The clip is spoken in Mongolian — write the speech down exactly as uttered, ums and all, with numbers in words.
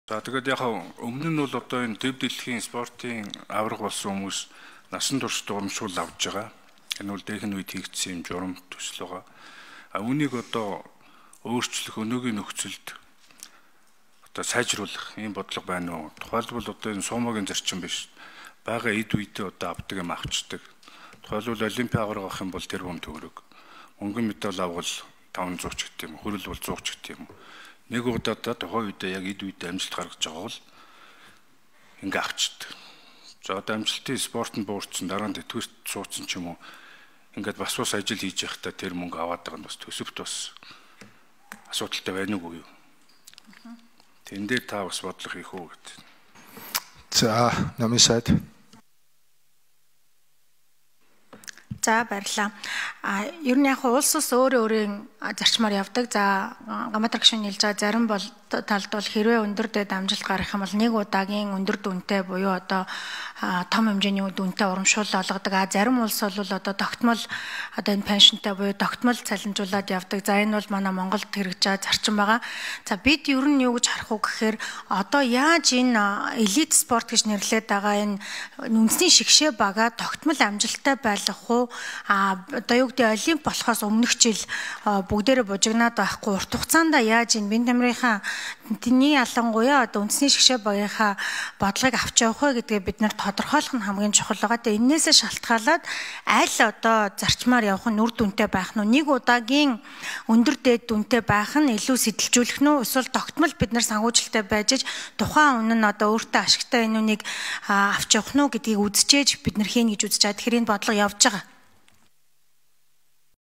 За тэгээд яг өмнө нь бол одоо энэ дэв дэлхийн спортын авраг болсон хүмүүс насан турш урамшуул авж байгаа. Энэ бол дээхэн үед хийгдсэн юм журам төсөл байгаа. А үүнийг одоо өөрчлөх өнөөгийн нөхцөлд одоо сайжруулах ийм бодлого байна уу? Тухайлбал одоо энэ сумогийн зарчим биш. Бага эд үедээ одоо авдаг юм авчдаг. Тухайлбал олимпиад авраг авах юм бол тэр хүм төгрөг. Мөнгөн медаль авал таван зуун ч гэдэг юм. Хөрөл бол сто ч гэдэг юм. Нэг удаад тухайн үедээ яг эд үедээ амжилт гаргаж байгаа бол ингээ авчдаг. За одоо амжилтын спортод буурсан дараа нь тэтгэврт суудсан ч юм уу ингээд бас бас ажил хийж явахдаа тэр мөнгө аваад байгаа нь бас төсөвт бас асуудалтай байна уу юу? Тэн дээр та бас бодлого хийх үү гэдэг. За, намын сайд. За баярлалаа. А ер нь яг улс ус өөрөө өөрийн зарчмаар явдаг. За гамбат гишүүн хэлж байгаа зарим бол талд бол хэрвээ өндөр дэд амжилт гарах юм бол нэг удаагийн өндөр дүнтэй буюу одоо том хэмжээний дүнтэй урамшуул олгодог. А зарим улс бол одоо тогтмол одоо энэ пеншнтэй буюу тогтмол цалинжуулаад явдаг. За энэ бол манай Монголд хэрэгж байгаа зарчим байгаа. За бид ер нь юу гэж харах уу гэхээр одоо яаж энэ элит спорт гэж нэрлэдэг байгаа энэ үндэсний шигшээ бага тогтмол амжилттай байлгах уу? А одоо юу гэдэг олимп болохоос өмнөх жил бүгдээрээ бужигнаад байхгүй урт хугацаанд яаж энэ бие тамирынхаа тэний ялангуяа одоо үндэсний шигшээ багийнхаа бодлогыг авч явах вэ гэдгээ бид нэр тодорхойлох нь хамгийн чухал байгаа. Тэгээ энээсээ шалтгаалаад аль одоо зарчмаар явах нь үр дүнтэй байх нь нэг удаагийн өндөр дээд дүнтэй байх нь илүү сэтэлжүүлэх нь эсвэл тогтмол бид нар санхүүжилттэй байж тухайн үнэ нь одоо өөртөө ашигтай энэ үнийг авч явах нь гэдгийг үзчихээж бид нар хийн гэж үзэж байгаа. Тэгэхээр энэ бодлого явж байгаа.